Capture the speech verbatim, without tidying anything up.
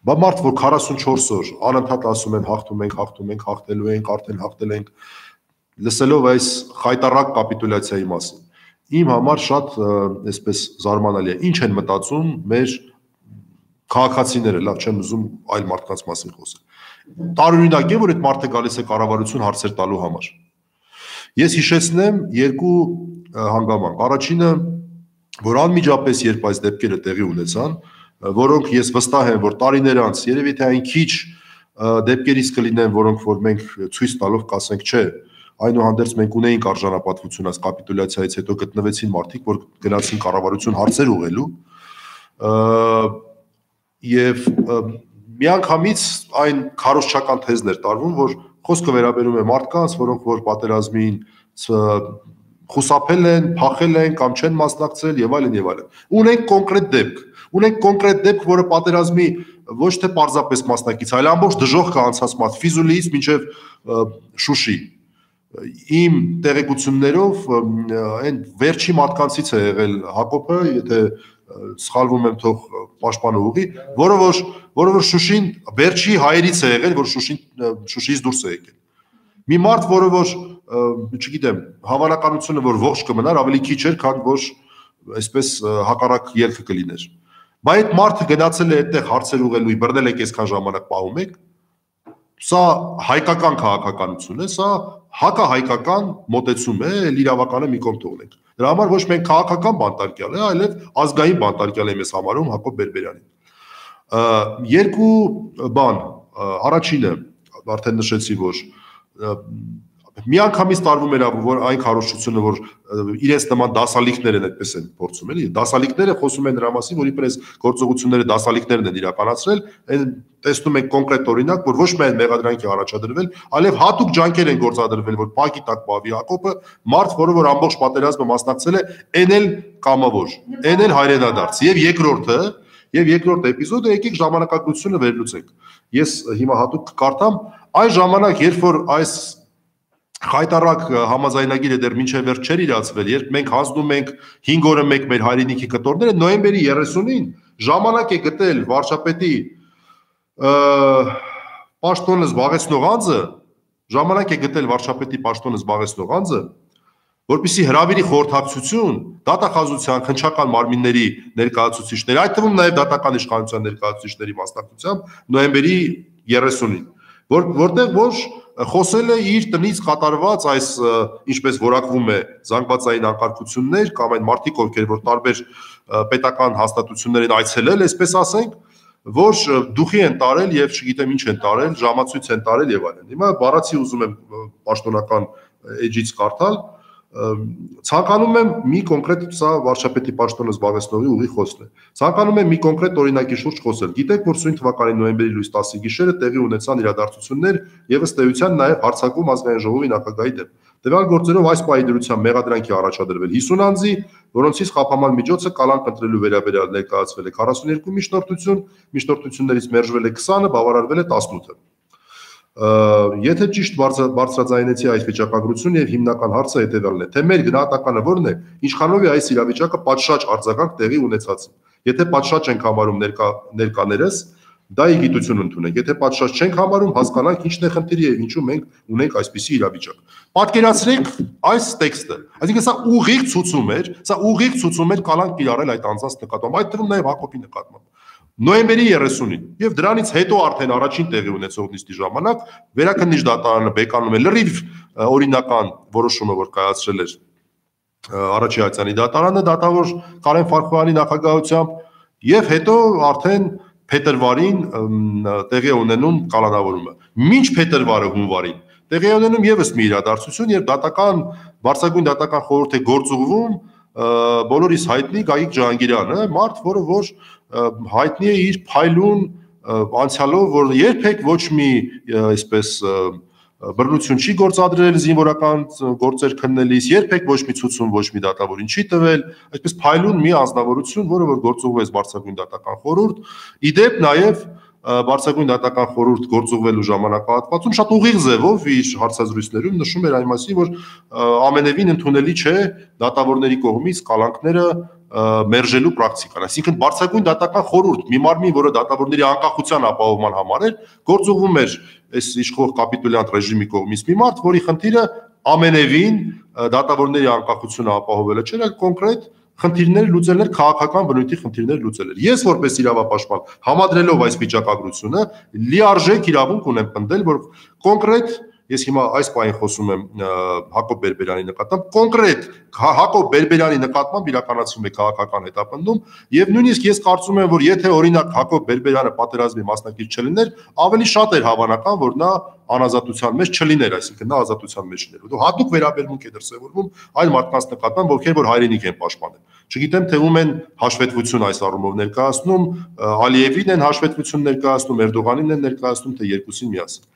Բա մարդ, որ քառասունչորս օր անընդհատ ասում են հաղթում ենք, հաղթում ենք, հաղթելու ենք, արդեն հաղթել ենք, լսելով այս խայտառակ կապիտուլյացիայի մասին, իմ համար շատ այսպես զարմանալի է, ինչ են մտածում մեր քաղաքացիները, լավ չեմ ուզում այլ մարդկանց մասին խոսել։ Տարօրինակ է, որ այդ մարդը գալիս է կառավարություն հարցեր տալու համար։ Ես հիշեցնեմ երկու հանգամանք։ Առաջինը, որ անմիջապես երբ այս դեպքերը տեղի ունեցան, որոնք ես վստահ եմ, որ տարիներ անց երևի թե այն քիչ դեպքերից կլինեն, որոնք որ մենք ցույց տալով կասենք, չէ, այնուհանդերձ մենք ունեինք արժանապատվություն այս կապիտուլյացիայից հետո գտնվեցին մարդիկ, որ գնացին կառավարություն հարցեր ուղղելու, եւ միանգամից այն քարոզչական թեզն էր տարվում, որ խոսքը վերաբերում է մարդկանց, որոնք որ պատերազմին խուսափել են, փախել են կամ չեն մասնակցել եւ այլն եւ այլն։ Ունենք կոնկրետ դեպք, ունենք կոնկրետ դեպք, որը պատերազմի ոչ թե պարզապես մասնակից, այլ ամբողջ դժոխք անցած մարդ, Ֆիզուլիից մինչև Շուշի։ Իմ տեղեկություններով այն վերջի մարդկանցից է եղել Հակոբը, եթե սխալվում եմ, թող պաշտպանը ուղղի, որը որ որը որ Շուշին վերջի հայերից է եղել, որ Շուշին Շուշիից դուրս է եկել։ Մի մարդ, որը որ չգիտեմ, հավանականությունը, որ ողջ կմնար, ավելի քիչ էր, քան որ այսպես հակառակ ելքը կլիներ։ Բայց այդ մարդը գնացել է այդտեղ հարցեր ուղղելու, բռնել եք այսքան ժամանակ պահում եք։ Սա հայկական քաղաքականություն է, սա հակահայկական մոտեցում է, իրավականը մի կողմ թողնենք։ Դրա համար ոչ մենք քաղաքական բանտարկյալ է, այլև ազգային բանտարկյալ եմ ես համարում Հակոբ Բերբերյանին։ Երկու բան, առաջինը արդեն նշեցի, որ միանգամից տարվում էր որ այն քարոզչությունը, որ իրենց նման դասալիքներ են այդպես են փորձում, էլի, դասալիքները խոսում են նրա մասին, որ իբրես գործողությունները դասալիքներն են իրականացրել, այն տեսնում ենք կոնկրետ օրինակ, որ ոչ միայն մեղադրանքի առաջադրվել, այլև հատուկ ջանքեր են գործադրվել, որ փակի տակ պահվի Հակոբը, մարդ, որը որ ամբողջ պատերազմը մասնակցել է, այն էլ կամավոր, այն էլ հայրենադարձ, եւ երկրորդը, եւ երկրորդ էպիզոդը եկեք ժամանակագրությունը վերլուծենք։ Ես հիմա հատուկ կկարդամ, այն ժամանակ, երբ որ այս խայտառակ համաձայնագիրը դեռ մինչև վերջ չէր իրացվել, երբ մենք հանձնում ենք հինգ օրը մեկ մեր հայրենիքի կտորները, նոյեմբերի երեսունին ժամանակ է գտել վարչապետի պաշտոնը զբաղեցնող անձը, ժամանակ է գտել վարչապետի պաշտոնը զբաղեցնող անձը, որպեսզի հրավիրի խորհրդակցություն դատախազության քննչական մարմինների ներկայացուցիչների, այդ թվում նաև դատական իշխանության ներկայացուցիչների մասնակցությամբ նոյեմբերի երեսունին, որ որտեղ որ խոսել է իր տնից կատարված այս ինչպես որակվում է զանգվածային անկարգություններ կամ այն մարդիկ, ովքեր որ տարբեր պետական հաստատություններ են այցելել, այսպես ասենք, որ դուխի են տարել եւ չգիտեմ ինչ են տարել, ժամացույց են տարել եւ այլն։ Հիմա բառացի ուզում եմ պաշտոնական էջից կարդալ, ցանկանում եմ մի կոնկրետ սա վարչապետի պաշտոնը զբաղեցնողի ուղի խոսն է։ Ցանկանում եմ մի կոնկրետ օրինակի շուրջ խոսել։ Գիտեք, որ սույն թվականի նոյեմբերի լույս տասի գիշերը տեղի ունեցան իրադարձություններ եւ ըստ էության նաեւ հարձակում ազգային ժողովի նախագահի դեմ։ Տվյալ գործերով այս պահի դրությամբ մեղադրանքի առաջադրվել հիսուն անձի, որոնցից խափաման միջոցը կալանք ընտրելու վերաբերյալ ներկայացվել է քառասուներկու միջնորդություն, միջնորդություններից մերժվել է քսանը, բավարարվել է տասնութը։ Եթե ճիշտ բարձրաձայնեցի այս վիճակագրությունը եւ հիմնական հարցը հետեւյալն է, թե մեր գնահատականը որն է, ինչքանով է այս իրավիճակը պատշաճ արձագանք տեղի ունեցած։ Եթե պատշաճ ենք համարում ներկա ներկաներս, դա ի գիտություն ընդունենք, եթե պատշաճ չենք համարում, հասկանանք ինչն է խնդիրը եւ ինչու մենք ունենք այսպիսի իրավիճակ։ Պատկերացրեք այս տեքստը, այսինքն սա ուղիղ ցուցում էր, սա ուղիղ ցուցում էր կալանք կիրառել այդ անձանց նկատմամբ, այդ թվում նաեւ Հակոբի նկատմամբ։ Նոյեմբերի երեսունին եւ դրանից հետո արդեն առաջին տեղի ունեցող նիստի ժամանակ վերաքննիչ դատարանը բեկանում է լրիվ օրինական որոշումը, որ կայացրել էր Արաչիացյանի դատարանը դատավոր Կարեն Ֆարխոյանի նախագահությամբ եւ հետո արդեն փետրվարին տեղի ունենում կալանավորումը։ Մինչ փետրվարը հունվարին տեղի ունենում եւս մի իրադարձություն, երբ դատական բարձրագույն դատական խորհուրդ է գործուղվում բոլորիս հայտնի Գագիկ Ջհանգիրյանը, մարդ, որը որ հայտնի է իր փայլուն անցյալով, որ երբեք ոչ մի այսպես բռնություն չի գործադրել զինվորական գործեր քննելիս, երբեք ոչ մի ցուցում ոչ մի դատավորին չի տվել, այսպես փայլուն մի անձնավորություն, որը որ գործուղվեց բարձրագույն դատական խորհուրդ, իդեպ նաև բարձրագույն դատական խորհուրդ գործուղվելու ժամանակահատվածում շատ ուղիղ ձևով իր հարցազրույցներում նշում էր այն մասին, որ ամենևին ընդունելի չէ դատավորների կողմից կալանքները մերժելու պրակտիկան, այսինքն բարձրագույն դատական խորհուրդ մի մարմին, որը դատավորների անկախության ապահովման համար էր, գործուղում էր այս իշխող կապիտուլյանտ ռեժիմի կողմից մի մարդ, որի խնդիրը ամենևին դատավորների անկախությունը ապահովելը չէր, այլ կոնկրետ խնդիրներ լուծելներ, քաղաքական բնույթի խնդիրներ լուծելներ։ Ես որպես իրավապաշտպան, համադրելով այս վիճակագրությունը, լիարժեք իրավունք ունեմ պնդել, որ կոնկրետ ես հիմա այս պահին խոսում եմ Հակոբ Բերբերյանի նկատմամբ, կոնկրետ Հակոբ Բերբերյանի նկատմամբ իրականացվում է քաղաքական հետապնդում, եւ նույնիսկ ես կարծում եմ, որ եթե օրինակ Հակոբ Բերբերյանը պատերազմի մասնակից չլիներ, ավելի շատ էր հավանական, որ նա անազատության մեջ չլիներ, այսինքն նա ազատության մեջ լիներ։ Հատուկ վերաբերմունք է դրսևորվում այլ մարդկանց նկատմամբ, ովքեր որ հայրենիք են պաշտպանել։ Չգիտեմ, թե ում են հաշվետվություն այս առումով ներկայացնում, Ալիևին են հաշվետվություն ներկայացնում, Էրդողանին են ներկայացնում, թե երկուսին միասին։